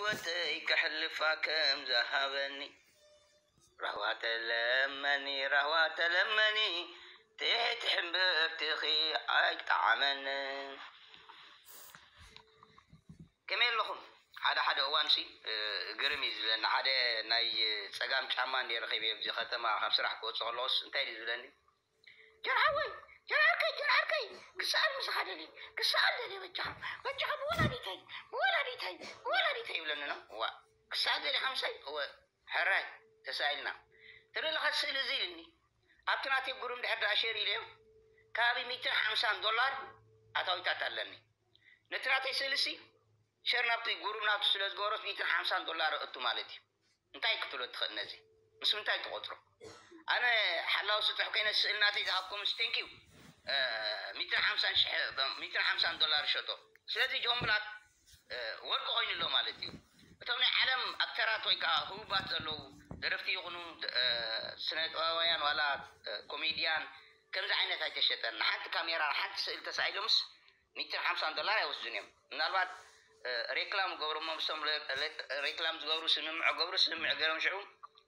ህይወተይ ከሕልፋ ከም ዝሃበኒ። ራህዋ ተለመኒ፣ ራህዋ ተለመኒ፣ ትሕቲ ሕምብርትኺ ኣይጠዓመንን። ከመይ ኣለኹም? ሓደ ሓደ እዋንሲ፣ እ፣ ግርም እዩ ዝብለኒ። ሓደ ናይ ጸጋም ጫማ እንድየ ረኺበ ኣብዚ ከተማ ካብ ስራሕ ክወጽእ ከለኹስ እንታይ ድዩ ዝብለኒ? "ጀርሓወይ፣ ጀርዓርከይ፣ ጀርዓርከይ፣ ክሰኣል ምስ ሓደ ደሊ፣ ክሰኣል ደሊ በጃኻ፣ በጃኻ ብወላዲተይ፣ ብወላዲተይ፣ ብወላዲተይ" ይብለኒ ነው። ዋ፣ ክሰኣል ደሊ ሓምሳይ? እወ፣ ሕራይ፣ ተሳኢልና። ትርኢ ለኻ ስእሊ እዚ ኢልኒ። ኣብቲ ናተይ ጉሩም ድሕር ደኣ ሸር ኢለዮ፣ ከባቢ ሚእትን ሓምሳን ዶላር ኣታዊታት ኣለኒ። ነቲ ናተይ ስእሊ ሲ ሸር ናብቲ ጉሩም ናቱ ስለ ዝገበሮስ ሚእትን ሓምሳን ዶላር እቱ ማለት እዩ። እንታይ ክትብሎ ትኽእል ነዚ? ምስ ምንታይ ትቖጽሮ? ኣነ ሓላዊ ስጡሕ ኮይነ ስእሊ ናተይ ዝሃብኩምስ፣ ቴንክ ዩ፣ እ፣ ሚእትን ሓምሳን ሽሕ፣ ሚእትን ሓምሳን ዶላር ሸጦ። ስለዚ ጆን ብላክ፣ እ፣ ወርቂ ኮይኑ ኣሎ ማለት እዩ። እቶም ናይ ዓለም ኣክተራት ወይ ከዓ ህቡባት ዘለዉ ደረፍቲ ይኹኑ፣ እ፣ ስነ ጥበባውያን ዋላ፣ እ፣ ኮሜድያን ከምዚ ዓይነት ኣይተሸጠን። ንሓንቲ ካሜራ፣ ንሓንቲ ስእሊ ተሳኢሎምስ ሚእትን ሓምሳን ዶላር ኣይወስዱን እዮም። ምናልባት፣ እ፣ ሬክላም ገብሩ እሞ ምስቶም ሬ-፣ ሬ-፣ ሬክላም ዝገብሩ ስምምዕ ገብሩ፣ ስምምዕ ገይሮም ሽዑ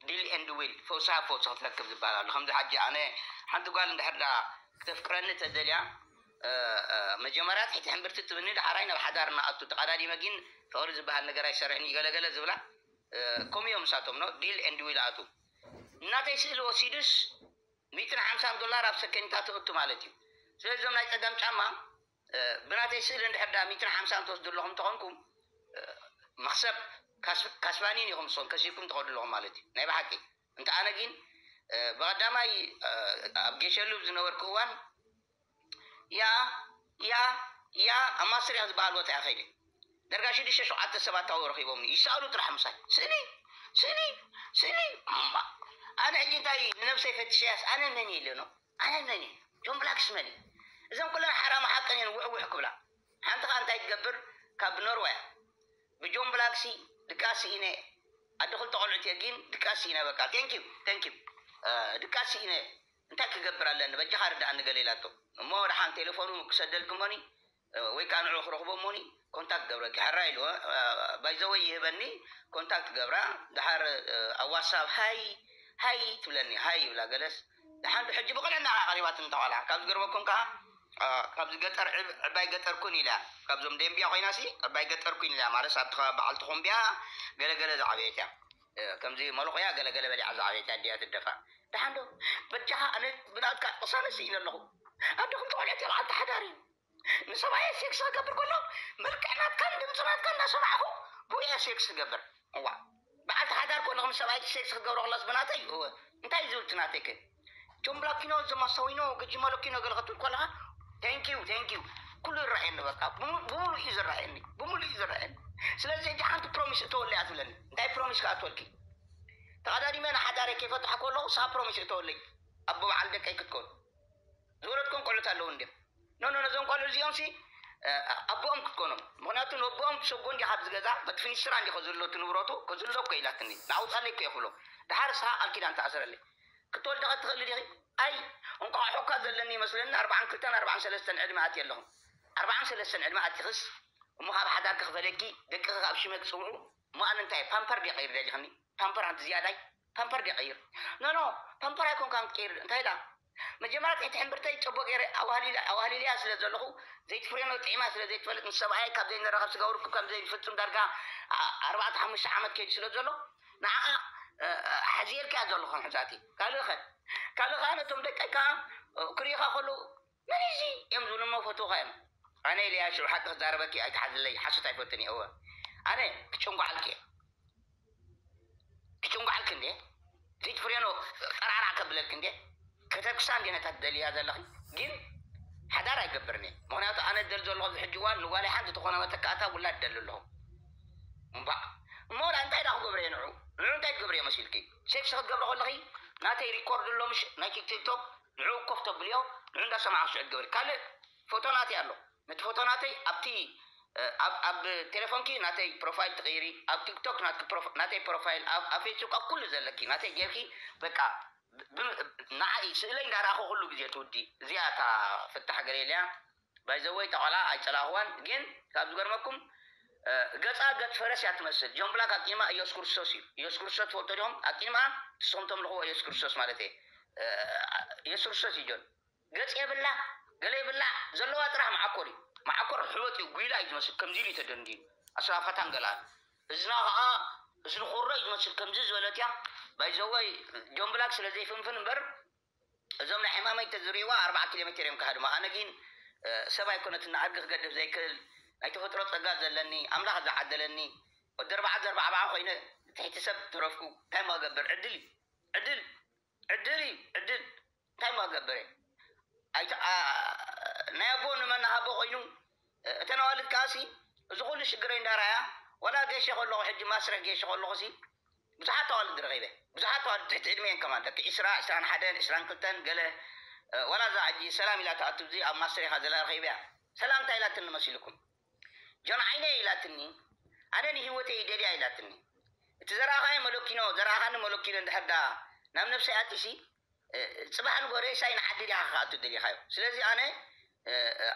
ዲል ኤንድ ዊል፣ ፈውሳ ፈውሲ ክትረክብ ዝበሃል ኣሎ። ከምዚ ሓጂ ኣነ ሓንቲ ጓል እንድሕር ዳ ክተፍቅረኒ ተደልያ፣ እ፣ እ፣ መጀመርያ ትሕቲ ሕምብርቲ ትብኒ፣ ደሓራይ ናብ ሓዳር እናኣቱ ተቐዳዲመ ግን ፍቕሪ ዝበሃል ነገር ኣይሰርሕን እዩ ገለገለ ዝብላ፣ እ፣ ከምኡ እዮም ንሳቶም፣ ኖ ዲል ኤንድ ዊል ኣቱ። እናተይ ስእሊ ወሲዱስ ሚእትን ሓምሳን ዶላር ኣብ ሰከንድታት ትእቱ ማለት እዩ። ስለዚ እዞም ናይ ጸጋም ጫማ፣ እ፣ ብናተይ ስእሊ እንድሕር ደኣ ሚእትን ሓምሳን ትወስዱ ኣለኹም እንተኾንኩም፣ እ፣ መኽሰብ ካስ-፣ ካስባኒን ኢኹም ንስኹም ከሲብኩም ትኸዱ ኣለኹም ማለት እዩ። ናይ ብሓቂ። እንተ ኣነ ግን፣ እ፣ ብቐዳማይ፣ እ፣ ኣብ ጌሸሉብ ዝነበርኩ እዋን፣ ያ፣ ያ፣ ያ፣ ኣብ ማስትሪያ ዝበሃል ቦታ እየ ከይደ። ደርጋ ሽዱሽተ ሸውዓተ ሰባት ኣብኡ ረኺቦምኒ። ይሰኣሉ ጥራሕ ምሳይ። ስእሊ፣ ስእሊ፣ ስእሊ። እምባ። ኣነ ሕጂ እንታይ ንነብሰይ ፈትሸያስ ኣነ መን እየ ኢለ ነው? ኣነ መን እየ? ጆን ብላክስ መን እዩ? እዞም ኩሎም ሓራም ሓቅን እየን ውሕ ውሕ ክብላ። ሓንቲ ኸኣ እንታይ ትገብር? ካብ ኖርወያ ብጆን ብላክሲ ድቃስ ኢነ፣ ኣደ ክልተ ቆልዑት እየ ግን ድቃስ ኢነ። በቃ፣ ቴንክ ዩ፣ ቴንክ ዩ። እ፣ ድቃስ ኢነ፣ እንታይ ክገብር ኣለኒ? በጃኻ ርድኣኒ ገለ ኢላቶ። እሞ ደሓን ቴሌፎኑ ክሰደልኪ እሞኒ፣ እ፣ ወይ ከዓ ንዕኡ ክረኽቦ እሞኒ፣ ኮንታክት ገብረኪ። ሕራይ ኢሉ፣ እ፣ ባይዘወይ ይህበኒ፣ ኮንታክት ገብራ። ደሓር፣ እ፣ ኣብ ዋትሳፕ ሃይ፣ ሃይ ትብለኒ፣ ሃይ ይብላ ገለስ። ደሓን ዶ ሕጂ ብቕንዕና ኸዓ ቀሪባትኒ እታ ቆልዓ። ካብ ዝገርመኩም ከኣ፣ እ፣ ካብዚ ገጠር ዕብ-፣ ዕባይ ገጠር ኩን ኢላ፣ ካብዞም ደንቢያ ኮይናሲ ዕባይ ገጠር ኩን ኢላ፣ ማለት ኣብቲ ከባቢ በዓል ተኾምቢያ ገለገለ ዝዓበየት እያ። እ፣ ከምዚ መለኾያ ገለገለ በሊዓ ዝዓበየት እያ፣ ኣዲኣ ትደፋ። ደሓን ዶ? በጃኻ ኣነ ብናትካ ቅሳነ ስኢነ ኣለኹ። ኣደኹም ተቖልዐት እያ፣ በዓልቲ ሓዳር እዩ። ንሰብኣየ ሴክስ ክገብር ከሎ መልክዕ ናትካን ድምፂ ናትካን እናሰማዕኹ ብኡ እየ ሴክስ ክገብር። እዋ፣ በዓልቲ ሓዳር ከለኹ ምስ ሰብኣይ ሴክስ ክገብሮ ከሎስ ብናተይ፣ እወ፣ እንታይ እዩ ዝብል እቲ ናተይ ከ? ጆን ብላኪኖ፣ ዘማሳዊኖ፣ ገጂ መለኪኖ ገለ ክትብል ከለኻ፣ ቴንኪዩ፣ ቴንኪዩ። ኩሉ ይረኣየኒ በቃ። ብሙ-፣ ብምሉእ እዩ ዝረኣየኒ። ብምሉእ እዩ ዝረኣየኒ። ስለዚ ሕጂ ሓንቲ ፕሮሚስ እተወለይ እያ ትብለኒ። እንታይ ፕሮሚስ ከኣ ትወልኪ? ተቐዳዲመ ንሓዳረይ ከይፈትሖ ከለኹ ንስኻ ፕሮሚስ እተወለይ። ኣቦ በዓል ደቀይ ክትከውን። ዝወለድኩም ቆልዑት ኣለዉ እንድዮም። ኖ፣ ኖ፣ ነዞም ቆልዑ እዚኦም ሲ፣ እ፣ ኣቦኦም ክትኮኖም። ምኽንያቱ ንኣቦኦም ትሰጎ እንዲኻ ኣብዚ ገዛ፣ በቲ ፊኒስትራ እንዲ ከዝሎ እቲ ንብረቱ፣ ከዝሎ እኮ ኢላትኒ። ንኣውጻለይ እኮ እየ ክብሎ። ደሓር ንስኻ ቃል ኪዳን ትኣስረለይ። ክትወልዲ ኸ ትኽእሊ ዲኺ? ኣይ፣ እንቋቑሖ እኳ ዘለኒ ይመስለኒ፣ ኣርብዓን ክልተን ኣርብዓን ሰለስተን ዕድመ ኣትየ ኣለኹ። ኣርብዓን ሰለስተን ዕድመ ኣቲኽስ፣ እሞ ካብ ሓዳር ክኽፈለኪ፣ ደቅኺ ካብ ሽመይ ክጽውዑ፣ እሞ ኣነ እንታይ ፓምፐር ድየ ቀይር ደሊኽኒ? ፓምፐር ሓንቲ ዝያዳይ? ፓምፐር ድየ ቀይር? ኖ፣ ኖ፣ ፓምፐር ኣይኮንካን ክትቀይር። እንታይ ኢላ? መጀመርያ ትሕቲ ሕምብርተይ ጨቦ ገይረ ኣዋህሊለ-፣ ኣዋህሊለያ ስለ ዘለኹ፣ ዘይትፍሬኖ ጥዒማ ስለ ዘይትፈልጥ፣ ምስ ሰብኣየይ ካብ ዘይንራኸብ ስጋ ውርኩብ ከም ዘይንፍጽም ዳርጋ ኣ-፣ ኣርባዕተ ሓሙሽተ ዓመት ከይዱ ስለ ዘሎ፣ ንዓኣ፣ እ፣ እ፣ ሓዚኤልካያ ዘለኹ ሕዛእቲ። ካልእ ኸ? ካልእ ኸኣ ነቶም ደቀይ ከኣ፣ እ፣ ክርእዩኻ ከለዉ፣ "መን እዩ እዚ?" እዮም ዝብሉ እሞ ፈትውኻ እዮም። ኣነ ኢለያ ሽዑ ሓቂ ክዛረበኪ ኣይትሓዝለይ፣ ሓሶት ኣይፈትን እየ። እወ። ኣነ ክጭንጓዓልኪ እየ። ክጭንጓዓልኪ እንዴ? ዘይትፍሬኖ ጠራዕራዕ ከብለልኪ እንዴ? ከተኩሳ እንዴ ነታ ትደልያ ዘለኺ? ግን ሓዳር ኣይገብርን እየ። ምኽንያቱ ኣነ ዝደሊ ዘለኹ ኣብዚ ሕጂ እዋን ንጓለይ ሓንቲ ዝኾነ መተካእታ ውላድ እደሊ ኣለኹ። እምባእ። እሞ ወላ እንታይ ደኣ ክገብሮ እየ ንዑ? ንዑ እንታይ ትገብርዮ መሲልኪ? ሴክስ ክትገብሪ ከለኺ ናተይ ሪኮርድ ኣሎ ምሽ ናይ ቲክቶክ፣ ንዑ ኮፍ ተብልዮ፣ ንዑ እንዳሰማዕኺ ሽዑ ትገብሪ። ካልእ ፎቶ ናተይ ኣሎ። ነቲ ፎቶ ናተይ ኣብቲ፣ እ፣ ኣብ፣ ኣብ ቴሌፎንኪ ናተይ ፕሮፋይል ትቕይሪ፣ ኣብ ቲክቶክ ናትኪ ፕሮፋ-፣ ናተይ ፕሮፋይል፣ ኣብ፣ ኣብ ፌስቡክ፣ ኣብ ኩሉ ዘለኪ ናተይ ጌርኪ፣ በቃ፣ ብ-፣ ብ-፣ ንዓይ ስእለይ እንዳረኣኹ ኩሉ ግዜ ትውዲ። እዚኣ እታ ፍታሕ ገለ ኢለያ። ባይ ዘ ወይ፣ እታ ቆልዓ ኣይጸላእኽዋን፣ ግን ካብ ዝገርመኩም፣ ገፃ ገፅ ፈረስ እያ ትመስል። ጆን ብላክ ኣቂማ ኢየሱስ ክርስቶስ እዩ። ኢየሱስ ክርስቶስ ትፈልጦ ዲኹም? ኣቂማ ንስኹም ተምልኽዎ ኢየሱስ ክርስቶስ ማለት እየ። ኢየሱስ ክርስቶስ እዩ ጆን። ገፅ የብላ፣ ገለ የብላ፣ ዘለዋ ጥራሕ መዓኮር እዩ። መዓኮር ሕበጥ እዩ፣ ጉይላ እዩ ዝመስል፣ ከምዚ ኢሉ እዩ ተደንዲኑ። ኣስራፋታን ገላ እዝና ከዓ እዝኒ ኮሮ እዩ ዝመስል፣ ከምዚ ዝበለት እያ። ባይዘወይ ጆን ብላክ ስለ ዘይፍንፍን እምበር እዞም ናይ ሕማመይ ተዝርእይዋ ኣርባዓ ኪሎ ሜትር እዮም ክሃድሙ። ኣነ ግን ሰብ ኣይኮነትን፣ ኣድጊ ክገድፍ ዘይክእል ናይ ተፈጥሮ ፀጋ ዘለኒ ኣምላኽ ዝዓደለኒ ወዲ ኣርባዓ ዘርባዕባዓ ኮይነ ትሕቲ ሰብ ተረፍኩ። እንታይ ሞ ገብር? ዕድል እዩ፣ ዕድል፣ ዕድል እዩ፣ ዕድል። እንታይ ሞ ገብር? ናይ ኣቦ ንመናሃቦ ኮይኑ እተን ኣዋልድ ከዓሲ እዚ ኩሉ ሽግረይ እንዳረኣያ፣ ዋላ ገሸ ከለኹ፣ ሕጂ ማስረ ገሸ ከለኹ ሲ ብዙሓት ኣዋልድ ረኺበ። ብዙሓት ኣዋልድ ትሕቲ ዕድሜን ከማን፣ ደቂ ዕስራ፣ ዕስራን ሓደን፣ ዕስራን ክልተን ገለ። ዋላ እዛ ሕጂ ሰላም ኢላ ትኣቱ፣ እዚ ኣብ ማስረ ኢኻ ዘላ ረኺበያ። ሰላም እንታይ ኢላትኒ መሲልኩም? ጆን ዓይነይ ኢላትኒ፣ ኣነ ንህይወተይ ይደልያ ኢላትኒ። እቲ ዘረኣኻዮ መለኪኖ፣ ዘረኣኻኒ መለኪኖ እንድሕር ደኣ ናብ ነብሰይ ኣቲሲ፣ ጽባሕ ንጎ ሬሳይ ንዓዲ ዲኻ ክኣቱ ደሊኻዮ? ስለዚ ኣነ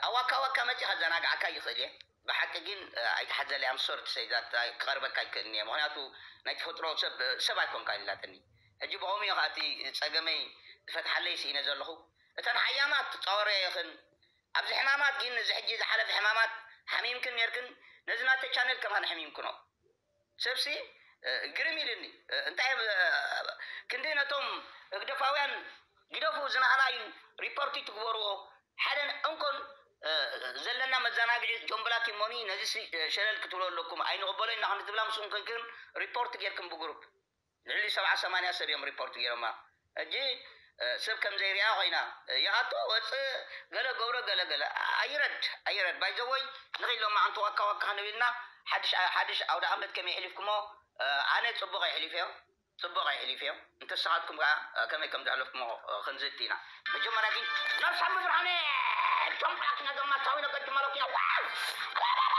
ኣዋካ ዋካ መጺ ከዘናግዓካ ይኽእል እየ። ብሓቂ ግን ኣይትሓዘለይ፣ ኣምሶር ትሰይዛት ክቐርበካ ይክእልኒ እየ። ምክንያቱ ናይ ተፈጥሮ ሰብ ሰብ ኣይኮንካ ኢላትኒ። ሕጂ ብኸምኡ እየ ከኣቲ ጸገመይ ዝፈትሓለይ ስኢነ ዘለኹ። እተን ሓያማት ትጻወረ ይኽን ኣብዚ ሕማማት ግን እዚ ሕጂ ዝሓለፈ ሕማማት ሓሚምክን ነርክን፣ ነዚ ናተ ቻነል ከማን ሕሚምክኖ። ሰብሲ ግርም ኢልኒ። እንታይ ክንዲ ነቶም ህግደፋውያን ግደፉ፣ ዝናህና እዩ፣ ሪፖርት ትግበርዎ። ሓደን እንኮን ዘለና መዘናግዒ ጆምብላት እሞኒ፣ ነዚ ሸለል ክትብሎ ኣለኩም፣ ኣይንቕበሎ ኢና ክንዲ ትብላ ምስኡም ኮንክን ሪፖርት ጌርክን ብግሩፕ ልዕሊ ሰብዓ ሰማንያ ሰብ እዮም ሪፖርት ገይሮማ። ሕጂ ሰብ ከም ዘይሪኣ ኮይና፣ ይኣቶ ወፅእ፣ ገለ ገብሮ፣ ገለ ገለ። ኣይረድ ኣይረድ ባይዘወይ ንኺሎማ ኣንቲ ዋካ ዋካ ክንብልና ሓድሽ ሓድሽ ኣውደ ዓመት ከመይ ሕሊፍኩሞ? ኣነ ፅቡቕ ይሕሊፍዮ፣ ፅቡቕ ይሕሊፍዮ። እንተስኻትኩም ከዓ ከመይ ከም ዘሕለፍኩሞ ክንዝቲ ኢና። መጀመርያ ግን ናብ ሳሚ ብርሃነ ቶም ብላክ ነገርና ታዊነ ቀጅ ማለት ኢና።